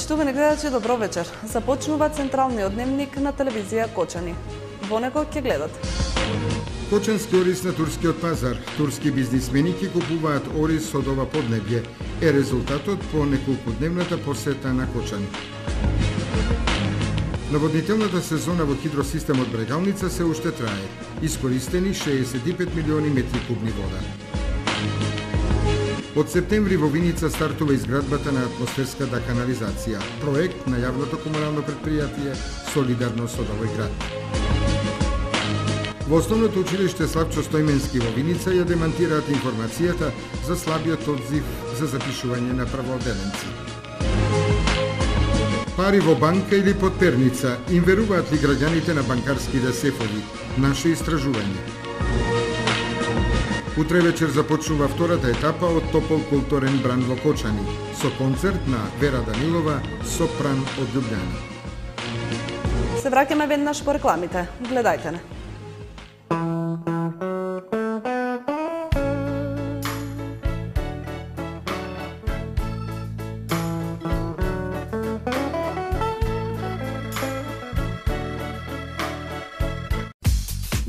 Поштувани гледачи, добро вечер. Започнува централниот дневник на телевизија Кочани. Во него ќе гледат. Кочански ориз на турскиот пазар. Турски бизнисмени ќе купуваат ориз од ова поднебје. Е резултатот по неколкудневната посета на Кочани. Наводнителната сезона во хидросистемот Брегалница се уште трае. Искористени 65 милиони метри кубни вода. Од септември во Виница стартува изградбата на атмосферската канализација, проект на јавното комунално предпријатие Солидарност од овој град. Во основното училиште Славчо Стојменски во Виница ја демантираат информацијата за слабиот одзив за запишување на праводеленци. Пари во банка или под перница, им веруваат ли граѓаните на банкарските сефови? Наше истражување. Утре вечер започнува втората етапа од Топол културен бранд во Кочани, со концерт на Вера Данилова, сопран од Љубљана. Се враќаме веднаш по рекламите. Гледајте не.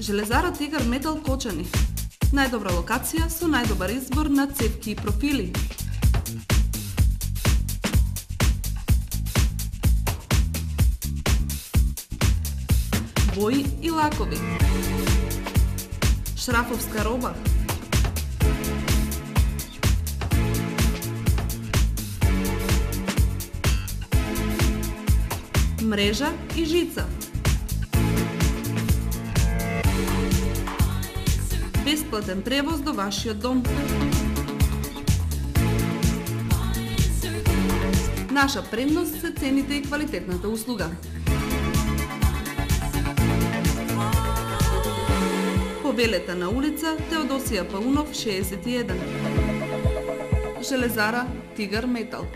Железара Тигар Метал Кочани. Најдобра локација со најдобар избор на цевки и профили. Бои и лакови. Шрафовска роба. Мрежа и жица. Бесплатен превоз до вашиот дом. Наша предност се цените и квалитетната услуга. Повелете на улица Теодосија Паунов 61. Железара Тигар Метал.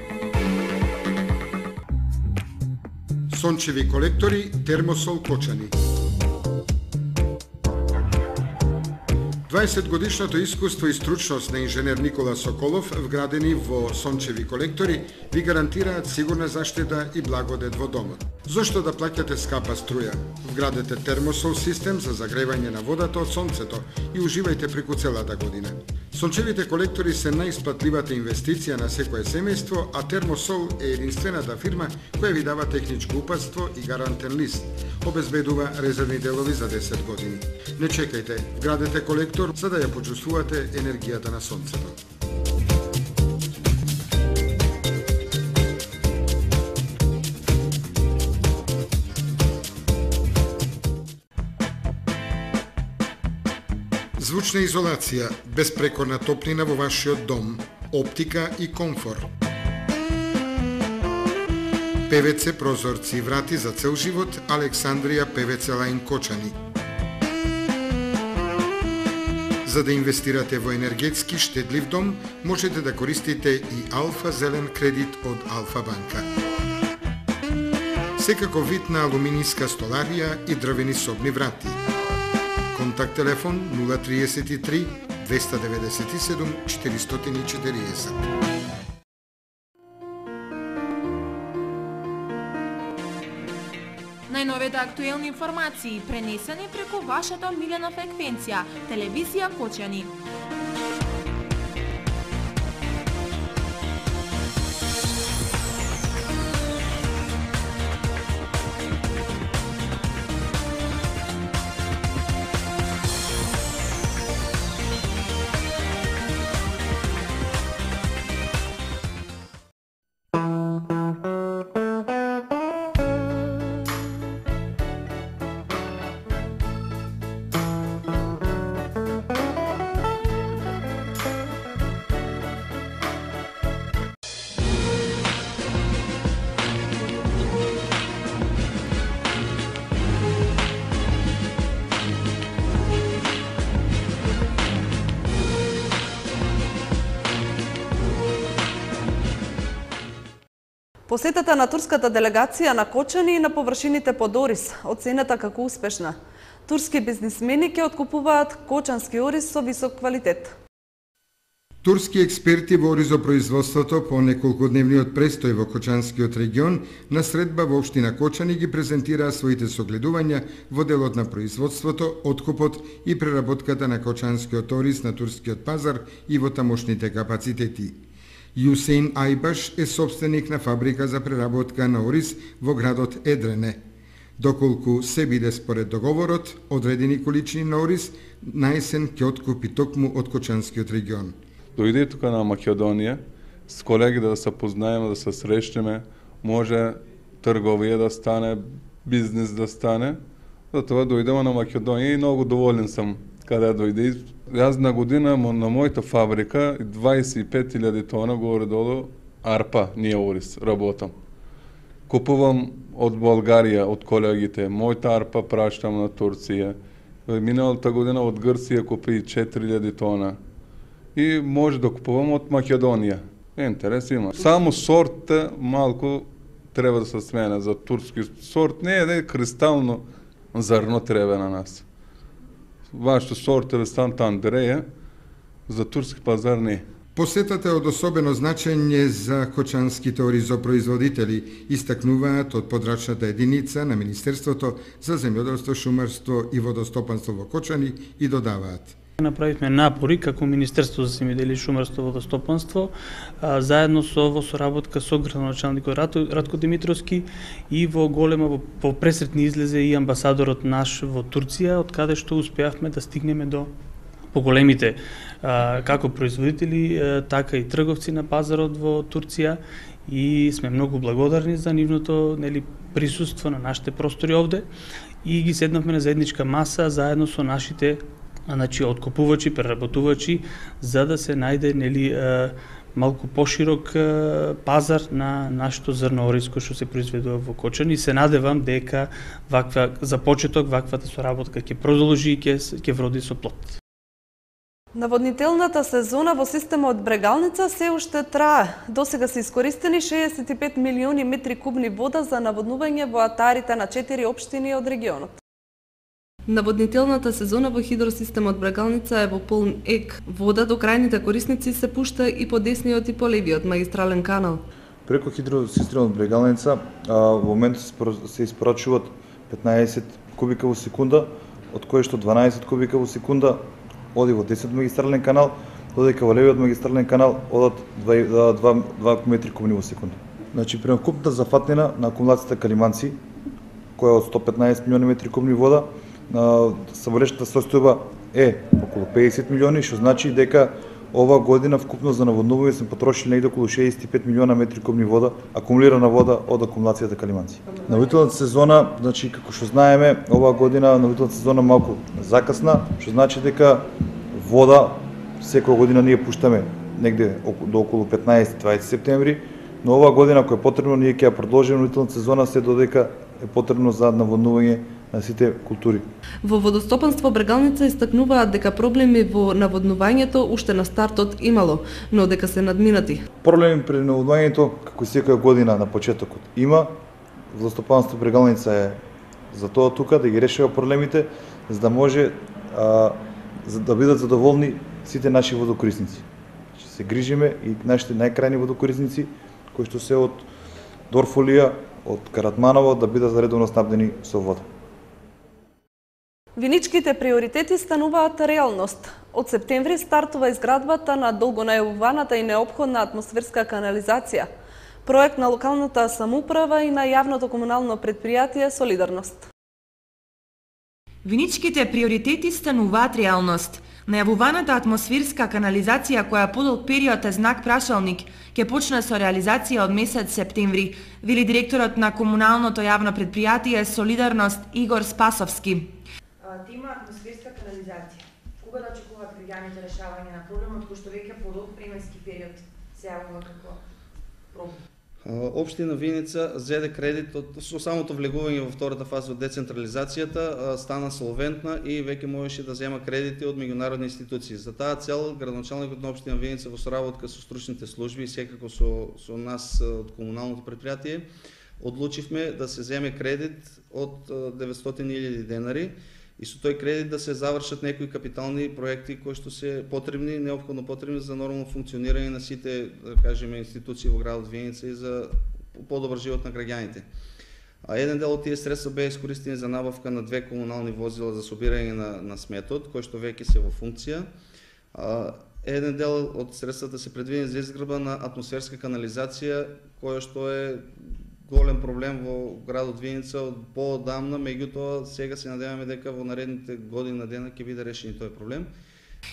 Сончеви колектори Термосол Кочани. 20-годишното искуство и стручност на инженер Никола Соколов, вградени во сончеви колектори, ви гарантираат сигурна заштита и благодет во домот. Зошто да плаќате скапа струја? Вградете термосол систем за загревање на водата од сонцето и уживајте преку целата година. Сончевите колектори се најисплатливата инвестиција на секое семејство, а Термосол е единствената фирма која ви дава техничко упатство и гарантен лист. Обезбедува резервни делови за 10 години. Не чекајте, вградете колектор за да ја почувствувате енергијата на сонцето. Звучна изолација, безпрекорна топлина во вашиот дом, оптика и комфор. ПВЦ прозорци и врати за цел живот, Александрија ПВЦ Лајн Кочани. За да инвестирате во енергетски штедлив дом, можете да користите и Алфа Зелен кредит од Алфа банка. Секако вид на алуминијска столарија и дрвени собни врати. Контакт телефон 033 297 440. Најновите актуелни информации пренесени преку вашата омилена фреквенција, телевизија Кочани. Посетата на турската делегација на Кочани и на површините под ориз оценета како успешна. Турски бизнисмени ќе откупуваат кочански ориз со висок квалитет. Турски експерти во ризопроизводството по неколкудневниот престој во Кочанскиот регион на средба во општина Кочани ги презентираа своите согледувања во делот на производството, откупот и преработката на кочанскиот ориз на турскиот пазар и во тамошните капацитети. Јусейн Ајбаш е собственик на фабрика за преработка на ориз во градот Едрене. Доколку се биде според договорот, одредени количини на ориз на есен ќе откупи токму од Кочанскиот регион. Дојде тука на Македонија, с колеги да се познаеме, да се срещнеме, може трговија да стане, бизнес да стане. Затоа дојдеме на Македонија и многу доволен сум каде дојде. Јас на година на мојата фабрика 25.000 тона горе-долу арпа, ние ориз, работам. Купувам од Болгарија, од колегите, мојата арпа праштам на Турција. Миналата година од Грција купи 4.000 тона. И може да купувам од Македонија. Интерес има. Само сорт малку треба да се смена за турски сорт. Не е кристално зрно треба на нас. Вашето сорт е Станта Андреја, за турски пазар не. Посетата е од особено значење за кочанските оризопроизводители, истакнуваат од подрачната единица на Министерството за земјоделство, шумарство и водостопанство во Кочани и додаваат. Направивме напори како Министерство за земјоделие, шумарство и водостопанство, заедно со соработка со градоначалникот Радко Димитровски и во голема во пресретни излезе и амбасадорот наш во Турција, од каде што успеавме да стигнеме до поголемите како производители, така и трговци на пазарот во Турција и сме многу благодарни за нивното присуство на нашите простори овде и ги седнавме на заедничка маса заедно со нашите откупувачи, преработувачи, за да се најде малку поширок пазар на нашето зрно ориз кој што се произведува во Кочани. Се надевам дека за почеток ваквата соработка ќе продолжи и ќе вроди со плод. Наводнителната сезона во системот Брегалница се уште трае. Досега се искористени 65 милиони метри кубни вода за наводнување во атарите на 4 општини од регионот. Наводнителната сезона во хидросистемот Брегалница е во полн ек. Вода до крајните корисници се пушта и по десниот и по левиот магистрален канал. Преку хидросистемот Брегалница во моментот се испорачуваат 15 кубика во секунда, од кои што 12 кубика во секунда оди во 10 магистрален канал, додека во левиот магистрален канал одат 2 метри кубни во секунда. Значи, преокупната зафатнина на акумулацијата Калиманци, која е од 115 милиони метри кубни вода, саморешната состојба е околу 50 милиони, што значи дека ова година вкупно за наводнување сме потрошили негде околу 65 милиона метри кубни вода, акумулирана вода од акумулацијата Калиманци. Наводнителната сезона, значи како што знаеме, оваа година наводнителната сезона малку закасна, што значи дека вода секоја година ние пуштаме негде до околу 15-20 септември, но оваа година кој е потребно ние ќе ја продолжиме наводнителната сезона се додека е потребно за наводнување на сите култури. Во водостопанство Брегалница истакнуваат дека проблеми во наводнувањето уште на стартот имало, но дека се надминати. Проблеми при наводнувањето, како секоја година на почетокот има, водостопанство Брегалница е за тоа тука да ги решава проблемите, за да може за да бидат задоволни сите наши водокорисници. Се грижиме и нашите најкрајни водокорисници кои што се од Дорфолија, од Каратманово да бидат редовно снабдени со вода. Виничките приоритети стануваат реалност. Од септември стартува изградбата на долгонајавуваната и неопходна атмосферска канализација, проект на локалната самоуправа и на јавното комунално претпријатие Солидарност. Виничките приоритети стануваат реалност. Најавуваната атмосферска канализација која подолг период е знак прашалник ќе почне со реализација од месец септември, вели директорот на комуналното јавно претпријатие Солидарност Игор Спасовски. Има атмосферска канализација. Кога да очекуваат граѓаните решавање на проблемот кој што веќе подолг временски период се јавува како проблем? Општина Виница зеде кредит со самото влегување во втората фаза од децентрализацијата, стана солвентна и веќе можеше да зема кредити од меѓународни институции. За таа цел градоначалникот на општина Виница во соработка со стручните служби и секако со нас од комуналното претпријатие одлучивме да се земе кредит од 900.000 денари и со тој кредит да се завршат некои капитални проекти кои што се потребни, неопходно потребни за нормално функционирање на сите, да кажеме, институции во градот Виница и за подобар живот на граѓаните. А еден дел од тие средства беа искористени за набавка на 2 комунални возила за собирање на сметот, кои што веќе се во функција. Еден дел од средствата се предвидени за изградба на атмосферска канализација, која што е голем проблем во градот Виница од поодамна, меѓутоа сега се надеваме дека во наредните години на дена ќе биде решен тој проблем.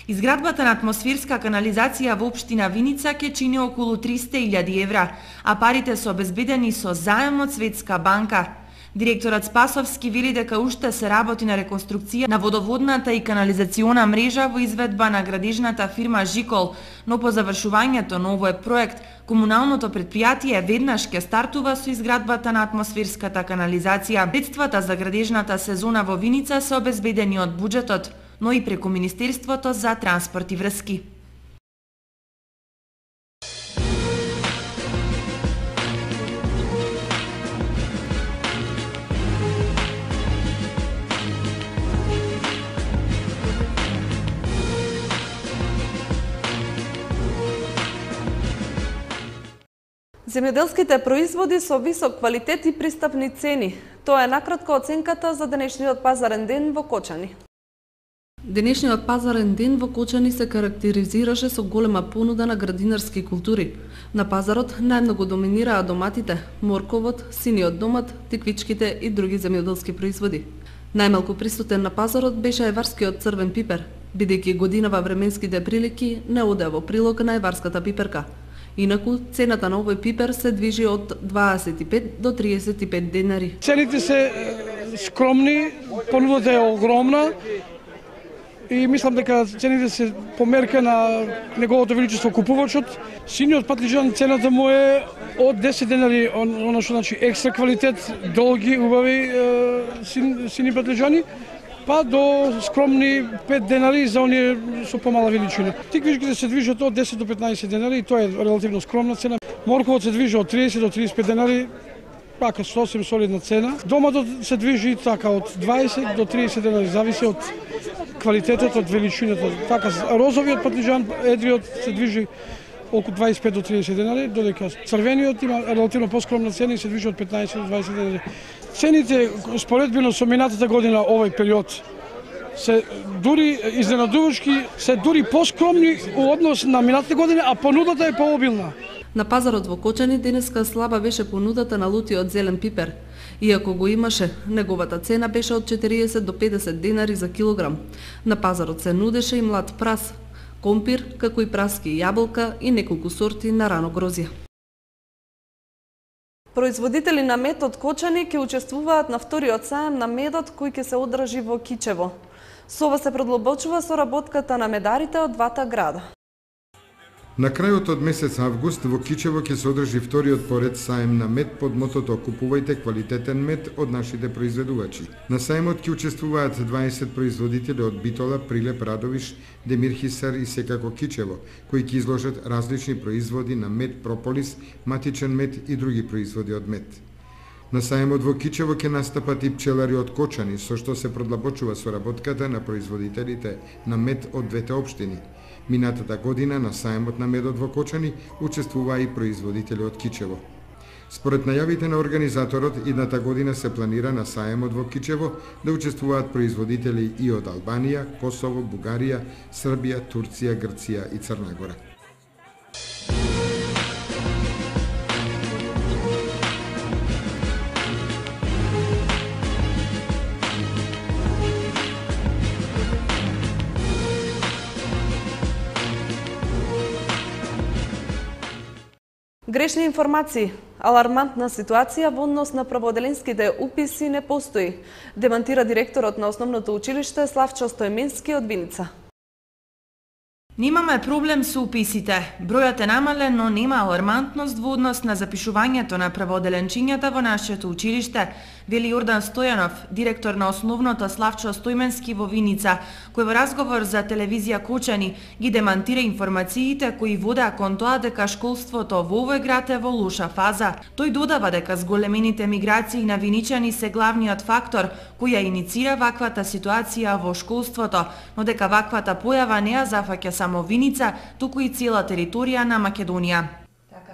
Изградбата на атмосферска канализација во општина Виница ќе чини околу 300.000 евра, а парите се обезбедени со заем од Светска банка. Директорот Спасовски вели дека уште се работи на реконструкција на водоводната и канализациона мрежа во изведба на градежната фирма Жикол, но по завршувањето на овој проект, комуналното предпријатие веднаш ќе стартува со изградбата на атмосферската канализација. Средствата за градежната сезона во Виница се обезбедени од буџетот, но и преку Министерството за транспорт и врски. Земјоделските производи со висок квалитет и пристапни цени. Тоа е накратко оценката за денешниот пазарен ден во Кочани. Денешниот пазарен ден во Кочани се карактеризираше со голема понуда на градинарски култури. На пазарот најмногу доминираа доматите, морковот, синиот домат, тиквичките и други земјоделски производи. Најмалку присутен на пазарот беше еварскиот црвен пипер, бидејќи годинава временските прилики не оде во прилог на еварската пиперка. Инаку, цената на овој пипер се движи од 25 до 35 денари. Цените се скромни, понудата е огромна и мислам дека цените се по мерка на неговото величество купувачот. Синиот патлиџан цената му е од 10 денари, она што значи екстра квалитет, долги, убави сини патлиџани, па до скромни 5 денари за оние со помала величина. Тиквичките се движат од 10 до 15 денари и тоа е релативно скромна цена. Морковот се движи од 30 до 35 денари, пака сосем солидна цена. Доматот се движи така од 20 до 30 денари, зависи од квалитетот, од величината. Така розовиот патлиџан, едриот се движи околу 25 до 30 денари, додека црвениот има релативно поскромна цена и се движи од 15 до 20 денари. Цените споредбено со минатата година овој период се дури изненадувачки, се дури поскромни во однос на минатата година, а понудата е пообилна. На пазарот во Кочани денеска слаба беше понудата на лутиот зелен пипер. Иако го имаше, неговата цена беше од 40 до 50 денари за килограм. На пазарот се нудеше и млад прас, компир, како и праски јаболка и неколку сорти на рано грозје. Производители на мед од Кочани ќе учествуваат на вториот саем на медот кој ќе се одржи во Кичево. Со ова се продлабочува соработката на медарите од двата града. На крајот од месец август во Кичево ќе се одржи вториот поред саем на мед под мотото "Купувајте квалитетен мед од нашите произведувачи". На саемот ќе учествуваат 20 производители од Битола, Прилеп, Радовиш, Демир Хисар и секако Кичево, кои ќе изложат различни производи на мед, прополис, матичен мед и други производи од мед. На саемот во Кичево ќе настапат и пчелари од Кочани, со што се продлабочува соработката на производителите на мед од двете општини. Минатата година на саемот на медот во Кочани учествуваа и производители од Кичево. Според најавите на организаторот, идната година се планира на саемот во Кичево да учествуваат производители и од Албанија, Косово, Бугарија, Србија, Турција, Грција и Црна Гора. Грешни информации, алармантна ситуација во однос на праводеленските уписи не постои, демантира директорот на Основното училиште Славчо Стојменски од Виница. Немаме проблем со уписите. Бројот е намален, но нема алармантност во однос на запишувањето на прводеленчињата во нашето училиште, вели Јордан Стојанов, директор на основното Славчо Стојменски во Виница, кој во разговор за телевизија Кочани ги демантира информациите кои водеа кон тоа дека школството во овој град е во лоша фаза. Тој додава дека зголемените миграции на виничани се главниот фактор кој ја иницира ваквата ситуација во школството, но дека ваквата појава не ја зафаќа само Виница, туку и цела територија на Македонија. Така,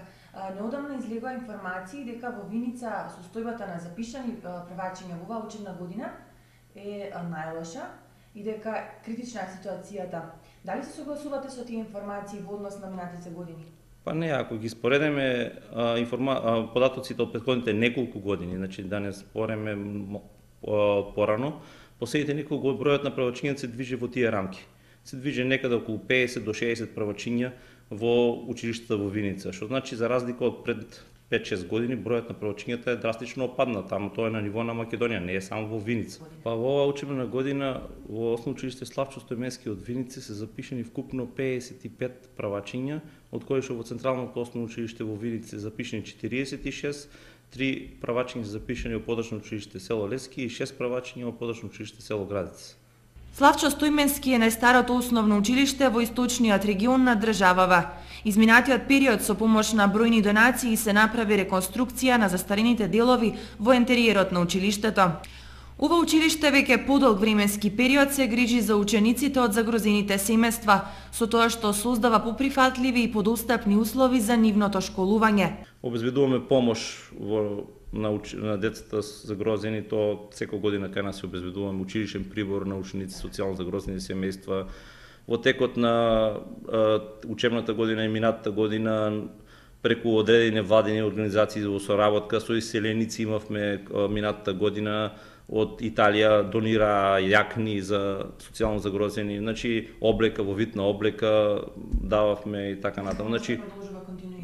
неодамна излегува информации дека во Виница состојбата на запишани првачиња во оваа учебна година е најлоша и дека критична е ситуацијата. Дали се согласувате со тие информации во однос на минатите години? Па не, ако ги споредиме податоците од претходните неколку години, значи да не спореме порано, последните неколку бројот на првачињата се движи во тие рамки. Се движи некаде околу 50 до 60 првачиња во училиштата во Виница, што значи за разлика од пред 5-6 години бројот на првачињата е драстично опаднал, таму тоа е на ниво на Македонија, не е само во Виница. Па во оваа учебна година во Основно училиште Славчо Стојменски од Виница се запишани вкупно 55 првачиња, од кои што во Централното основно училиште во Виница се запишани 46, 3 првачиња се запишани во Подрачно училиште село Лески и 6 првачиња во Подрачно училиште село Градец. Славчо Стојменски е најстарото основно училиште во источниот регион на државава. Изминатиот период со помош на бројни донации се направи реконструкција на застарените делови во интериерот на училиштето. Ова училиште веќе подолг временски период се грижи за учениците од загрозените семејства, со тоа што создава поприфатливи и подостапни услови за нивното школување. Обезбедуваме помош на децата загрозени, то секоја година кај нас се обезбедуваме училишен прибор на ученици социјално загрозени семејства. Во текот на учебната година и минатата година преку одредени владени организации во соработка со иселеници имавме минатата година од Италија донира јакни за социјално загрозени, значи облека во вид на облека дававме и така натаму. Значи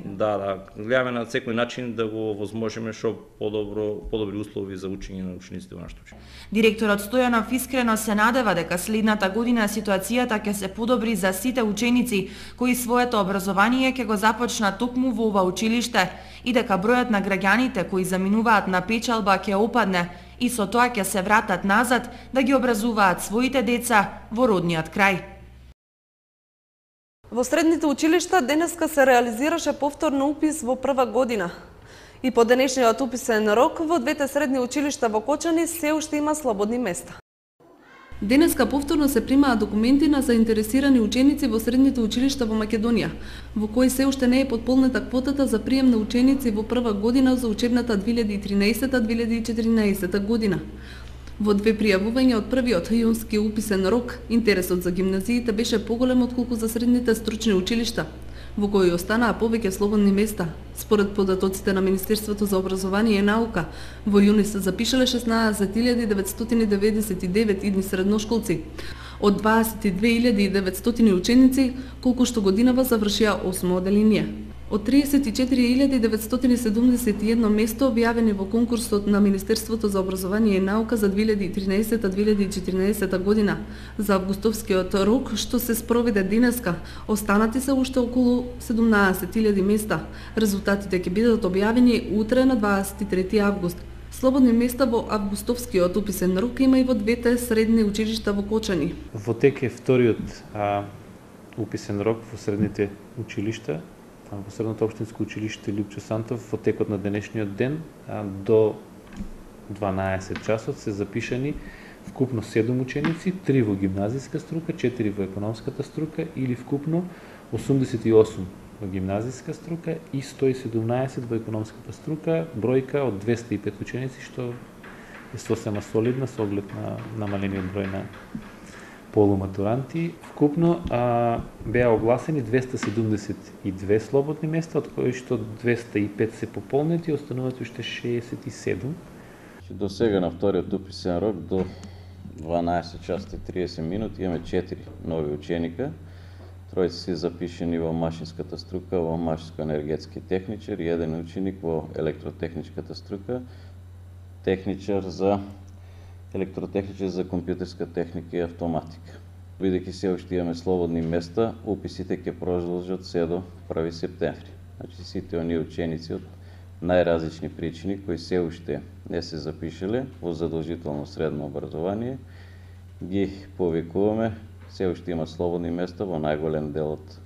да, гледаме на секој начин да го возможиме што подобри услови за учење на учениците во нашето училиште. Директорот Стојанов искрено се надева дека следната година ситуацијата ќе се подобри за сите ученици кои своето образование ќе го започнат токму во ова училиште и дека бројот на граѓаните кои заминуваат на печалба ќе опадне и со тоа ќе се вратат назад да ги образуваат своите деца во родниот крај. Во средните училишта денеска се реализираше повторно упис во прва година. И по денешниот уписен рок во двете средни училишта во Кочани се уште има слободни места. Денеска повторно се примаат документи на заинтересирани ученици во средните училишта во Македонија, во кои се уште не е потполнета квотата за прием на ученици во прва година за учебната 2013-2014 година. Во две пријавувања од првиот јунски уписен рок, интересот за гимназиите беше поголем отколку за средните стручни училишта, во кои останаа повеќе слободни места. Според податоците на Министерството за образование и наука, во јуни се запишале 16.999 идни средношколци, од 22.900 ученици, колку што годинава завршија 8 оделение. Од 34.971 место објавени во конкурсот на Министерството за образование и наука за 2013-2014 година за августовскиот рок што се спроведе денеска, останати се уште околу 17.000 места. Резултатите ќе бидат објавени утре на 23 август. Слободни места во августовскиот уписен рок има и во двете средни училишта во Кочани. Во тек е вториот уписен рок во средните училишта. Во Средното општинско училиште Лјупчо Сантов во текот на денешниот ден до 12 часот се запишани вкупно 7 ученици, 3 во гимназиска струка, 4 во економската струка или вкупно 88 во гимназиска струка и 117 во економската струка, бројка од 205 ученици што е сосема солидна со оглед на намалениот број на полуматуранти. Вкупно беа огласени 272 слободни места, од кои што 205 се пополнети, остануваат уште 67. До сега на вториот уписен рок до 12 часа и 30 минути имаме 4 нови ученика. Тројца се запишени во машинската струка, во машинско-енергетски техничар и еден ученик во електротехничката струка, електротехничар за компјутерска техника и автоматика. Бидејќи се уште имаме слободни места, уписите ќе продолжат се до 1 септември. Значи сите оние ученици од најразлични причини кои се уште не се запишале во задолжително средно образование, ги повикуваме, се уште има слободни места во најголем дел од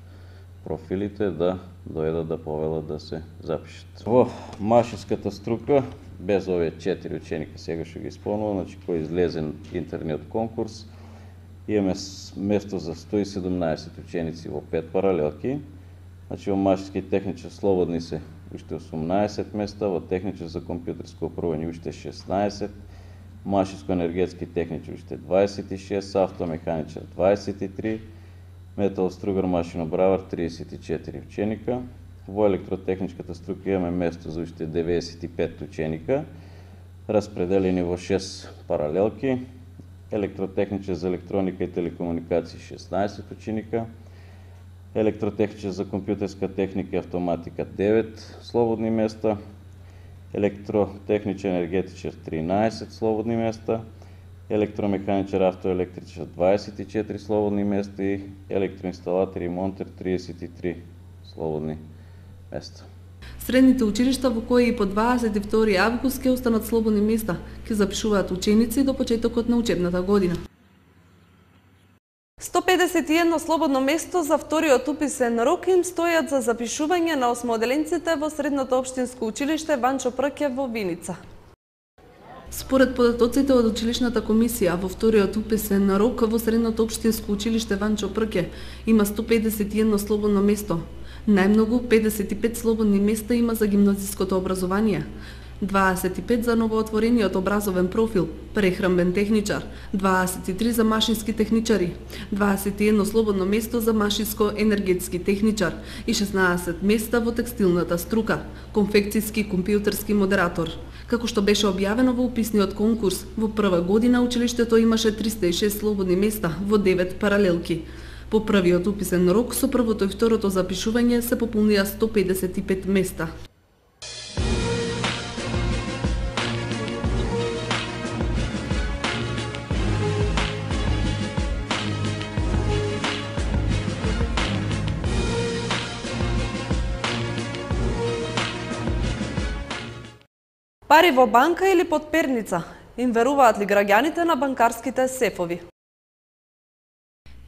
профилите да дојдат да повелат да се запишат. Во машинската струка, без овие 4 ученика сега што ги исполнува, значи кој излезе интерниот конкурс, имаме место за 117 ученици во 5 паралелки. Значи во машински техничар слободни се уште 18 места, во техничар за компјутерско управување уште 16, машинско-енергетски техничар уште 26, автомеханичар 23, металостругар машинобравар 34 ученика. Во електротехничката струка имаме место за уште 95 ученика, распределени во 6 паралелки. Електротехничар за електроника и телекомуникации 16 ученика, електротехничар за компјутерска техника и автоматика 9 слободни места, електротехничар енергетичар 13 слободни места, електромеханичар автоелектричар 24 слободни места и електроинсталатор и монтер 33 слободни места. Средните училишта во кои и по 22 август ќе останат слободни места, ќе запишуваат ученици до почетокот на учебната година. 151 слободно место за вториот уписен рок им стојат за запишување на осмоделенците во Средното општинско училиште Ванчо Прке во Виница. Според податоците од училишната комисија, во вториот уписен рок во Средното општинско училиште Ванчо Прке има 151 слободно место. Најмногу 55 слободни места има за гимназиското образование, 25 за новоотворениот образовен профил, прехранбен техничар, 23 за машински техничари, 21 слободно место за машинско-енергетски техничар и 16 места во текстилната струка, конфекцијски компјутерски модератор. Како што беше објавено во уписниот конкурс, во прва година училиштето имаше 306 слободни места во 9 паралелки. По првиот уписен рок со првото и второто запишување се пополнија 155 места. Пари во банка или под перница? Им веруваат ли граѓаните на банкарските сефови?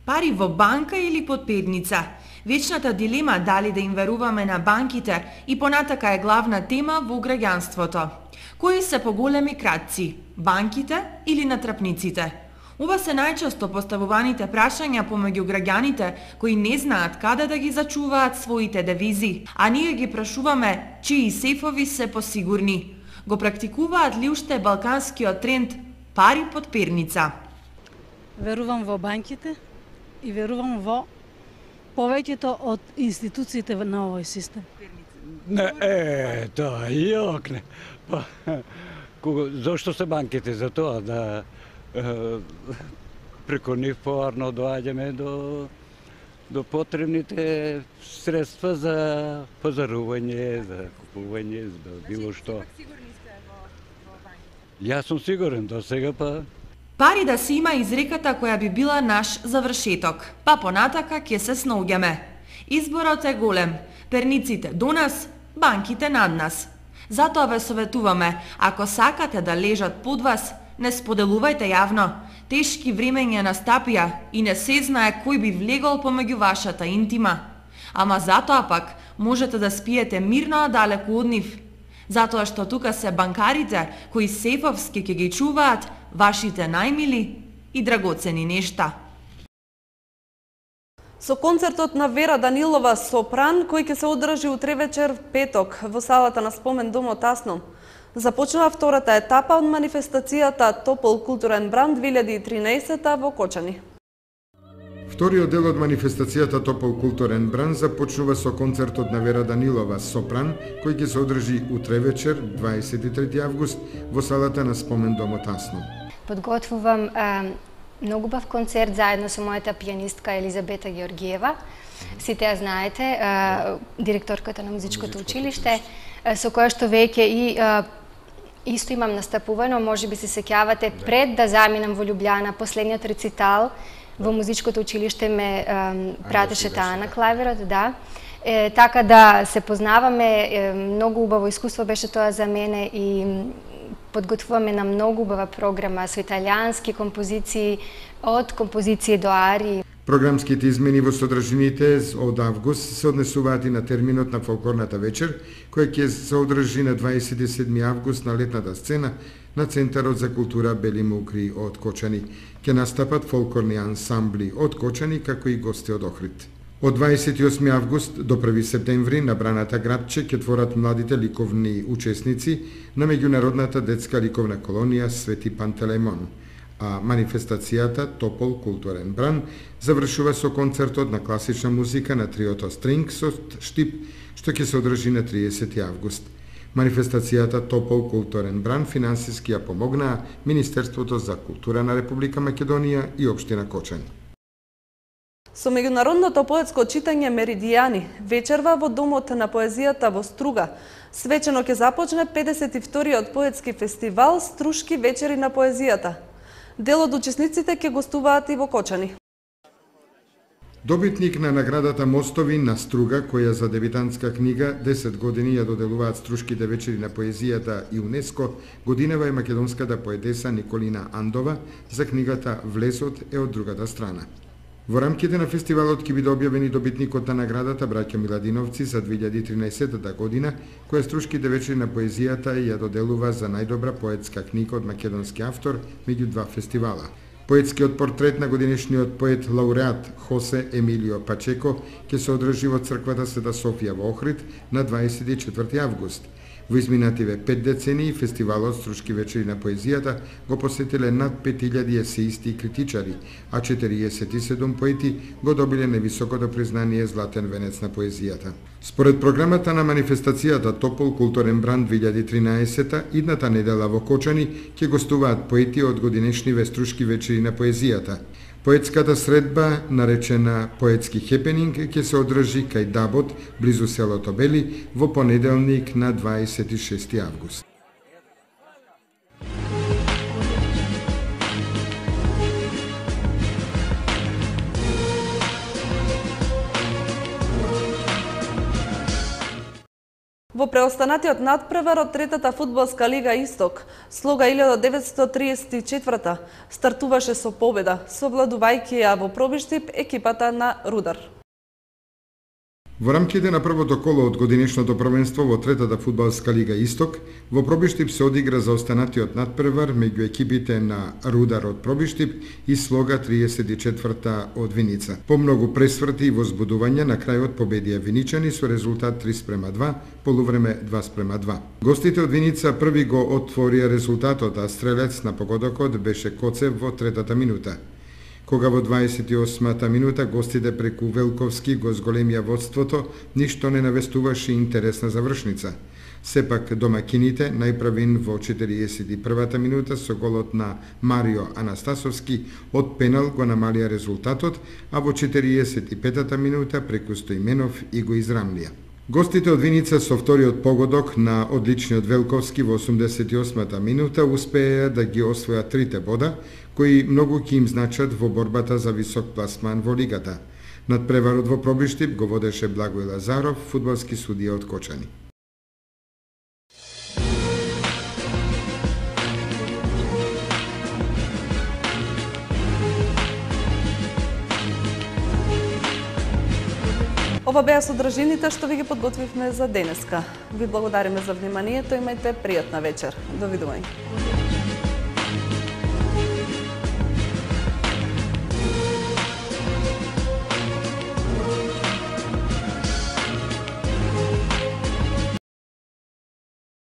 Пари во банка или под перница? Вечната дилема дали да им веруваме на банките и понатака е главна тема во граѓанството. Кои се поголеми кратци? Банките или натрапниците? Ова се најчесто поставуваните прашања помеѓу граѓаните кои не знаат каде да ги зачуваат своите девизи, а ние ги прашуваме чии сефови се посигурни. Го практикуваат ли уште балканскиот тренд пари под перница? Верувам во банките и верувам во повеќето од институциите на овој систем. Не, тоа јок не. Зошто се банките? За тоа да преку нив поварно доаѓаме до потребните средства за пазарување, за купување, за било што. Јас сум сигурен, до сега па. Пари да се има изреката која би била наш завршеток, па понатака ќе се снаоѓаме. Изборот е голем, перниците до нас, банките над нас. Затоа ве советуваме, ако сакате да лежат под вас, не споделувајте јавно. Тешки времења настапија и не се знае кој би влегол помеѓу вашата интима. Ама затоа пак можете да спиете мирно далеку од нив. Затоа што тука се банкарите кои сефовски ќе ги чуваат вашите најмили и драгоцени нешта. Со концертот на Вера Данилова Сопран, кој ќе се одржи утре вечер петок во салата на Спомен домот Тасно, започнува втората етапа од манифестацијата Топол културен бранд 2013 во Кочани. Вториот дел од манифестацијата Топол културен бранд започнува со концертот на Вера Данилова Сопран, кој ќе се одржи утре вечер 23 август во салата на Спомен домот Тасно. Подготвувам многу бав концерт заедно со мојата пијанистка Елизабета Георгиева. Сите ја знаете, директорката на музичкото училиште, со која што веќе и исто имам настапувано, може би се сеќавате, пред да заминам во Љубљана, последниот рецитал во музичкото училиште ме пратеше таа на клавирот, да. Така да се познаваме, многу убаво искуство беше тоа за мене и подготвуваме на многу убава програма со италијански композиции, од композиции до арии. Програмските измени во содржините од август се однесуваат и на терминот на фолклорната вечер, која ќе се одржи на 27 август на летната сцена на Центарот за култура Бели Мукри од Кочани. Ќе настапат фолклорни ансамбли од Кочани, како и гости од Охрид. Од 28 август до 1 септември на Браната градче ќе творат младите ликовни учесници на меѓународната детска ликовна колонија Свети Пантелеймон, а манифестацијата Топол културен бран завршува со концертот на класична музика на триото Strings од Штип, што ќе се одржи на 30 август. Манифестацијата Топол културен бран финансиски ја помогнаа Министерството за култура на Република Македонија и општина Кочани. Со меѓународното поетско читање Меридијани, вечерва во Домот на поезијата во Струга, свечено ќе започне 52-иот поетски фестивал Струшки вечери на поезијата. Дел од учесниците ќе гостуваат и во Кочани. Добитник на наградата Мостови на Струга, која за дебитантска книга 10 години ја доделуваат Струшките вечери на поезијата и УНЕСКО, годинава е македонската поетеса Николина Андова за книгата Влезот е од другата страна. Во рамките на фестивалот ќе биде објавени добитникот на наградата браќа Миладиновци за 2013 година, која Струшките вечери на поезијата ја доделува за најдобра поетска книга од македонски автор меѓу два фестивала. Поетскиот портрет на годинешниот поет лауреат Хосе Емилио Пачеко ќе се одржи во црквата Света Софија во Охрид на 24 август. Во изминативе 5 децении фестивалот Струшки вечери на поезијата го посетиле над 5000 есеисти и критичари, а 47 поети го добиле највисокото признание Златен венец на поезијата. Според програмата на манифестацијата Топол културен бран 2013, идната недела во Кочани ќе гостуваат поети од годинешниве Струшки вечери на поезијата. Поетската средба, наречена Поетски хепенинг, ќе се одржи кај Дабот, близу селото Бели, во понеделник на 26 август. Во преостанатиот надпревар од третата фудбалска лига Исток, Слога 1934 стартуваше со победа, совладувајќи ја во пробиштип екипата на Рудар. Во рамките на првото коло од годинешното првенство во третата фудбалска лига Исток, во Пробиштип се одигра за останатиот надпревар меѓу екипите на Рудар од Пробиштип и Слога 34 од Виница. По многу пресврти и возбудувања на крајот победија виничани со резултат 3:2, полувреме 2:2. Гостите од Виница први го отворија резултатот, а стрелец на погодокот беше Коцев во третата минута. Кога во 28-та минута гостите преку Велковски го зголемија водството, ништо не навестуваше интересна завршница. Сепак домакините најправин во 41-та минута со голот на Марио Анастасовски од пенал го намалија резултатот, а во 45-та минута преку Стоименов и го израмлија. Гостите од Виница со вториот погодок на одличниот Велковски во 88-та минута успеа да ги освојат трите бода, кои многу ќе им значат во борбата за висок пласман во лигата. Надпреварот во Пробиштип го водеше Благој Лазаров, фудбалски судија од Кочани. Ова беа содржините што ви ги подготвивме за денеска. Ви благодариме за вниманието, имајте пријатна вечер. Довидување.